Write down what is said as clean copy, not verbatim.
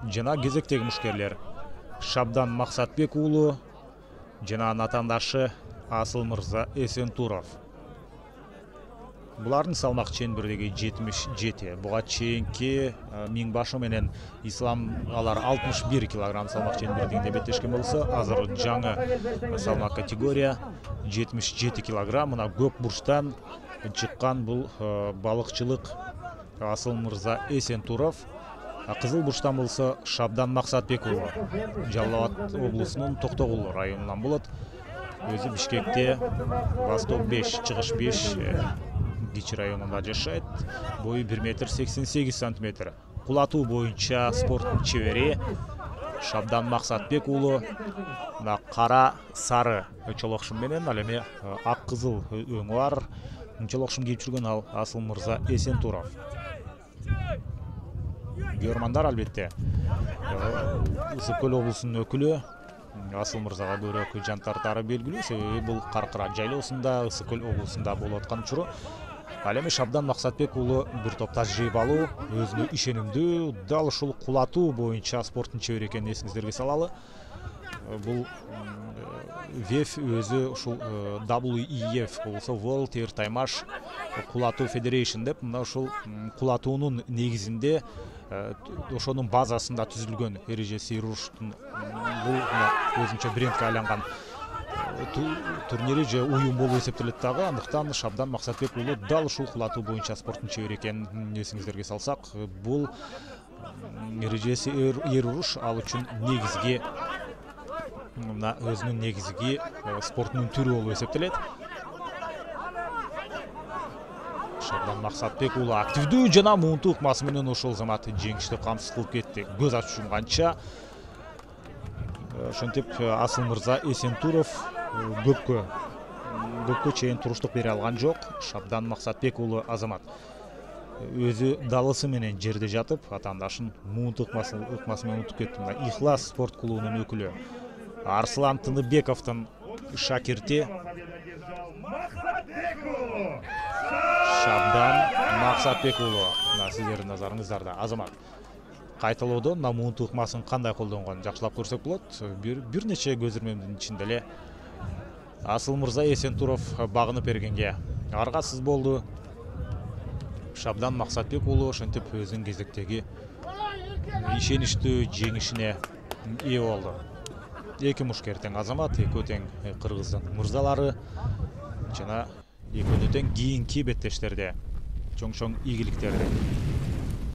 жана кезектеги мушкерлер Шабдан Максатбек уулу жана анын атаандашы Асыл Мырза Эсентуров. Булардын салмак чембирдиги 77. Буга чейинки Миңбашы менен Ислам алар 61 кг салмак чембирдигинде беттешкен болсо, азыр жаңы салмак категория 77 кг. Мына көк бурчтан чыккан бул балыкчылык Асыл Мырза Эсентуров. Кызыл бурчтан болсо Шабдан Максатбек уулу Жалал Абад облусунун Токтогул районунан болот. Өзү Бишкекте Восток 5, Чыгыш 5 Кичи районунда жашайт. Бою 1,88 м. Кулатуу боюнча спорттун чебери Шабдан Максатбек уулу мына кара сары чолокшум менен, ал эми ак кызыл өңү бар чолокшум кийип жүргөн ал Асыл Мырза Эсентуров. Көрмандар албетте Ысык көл облусунун өкүлү. Асыл Мырзага көбүрөөк жан тартары белгилүү, себеби бул Каркыра жайлоосунда, Ысык көл облусунда болуп аткан учуру. Ал эми Шабдан Максатбек уулу бир топ тажрыйбалуу, өзүнө ишенимдүү, дал ушул кулатуу боюнча спорттун чебери экенин эсиңиздерге салалы. Бул ВЕФ өзү ушул WEF болсо World Air Taimash кулатуу Federation деп, мына ушул кулатуунун негизинде ошонун базасында түзүлгөн эрежеси Ируштун бул өзүнчө брендке айланган турнири же уюм болуп эсептелет дагы. Андыктан Шабдан Максатбек уулу дал ушул кулатуу боюнча спорттун чебери экенин эсиңиздерге салсак, бул эрежеси Ируш ал үчүн негизги, мына өзүнүн негизги спорттун түрү болуп эсептелет. Шабдан Максатбек уулу активдүү жана муунтуу ыкмасы менен ошол замат жеңишти камсыз кылып кетти. Көз ачып жумганча ошентип Асыл Мырза Эсентуров көпкө чейин туруштук бере алган жок. Шабдан Максатбек уулу азамат өзү далысы менен жерде жатып, атаандашын муунтуу ыкмасы менен унутуп кетти. Ихлас спорт клубунун өкүлү Арслан Тыныбековдун шакирти Шабдан Максатбек уулу. Сиздердин назарыңыздарда азамат кайталоодон муунтуу ыкмасын кандай колдонгонун жакшылап көрсөк болот. Бир нече көз ирмемдин ичинде эле Асыл Мырза Эсентуров багынып бергенге аргасыз болду. Шабдан Максатбек уулу ошентип өзүнүн кезектеги ишеничтүү жеңишине ээ болду. Эки мушкер тең азамат, экөө тең кыргыздын мырзалары жана экөө тең кийинки беттештерде чоң игиликтерди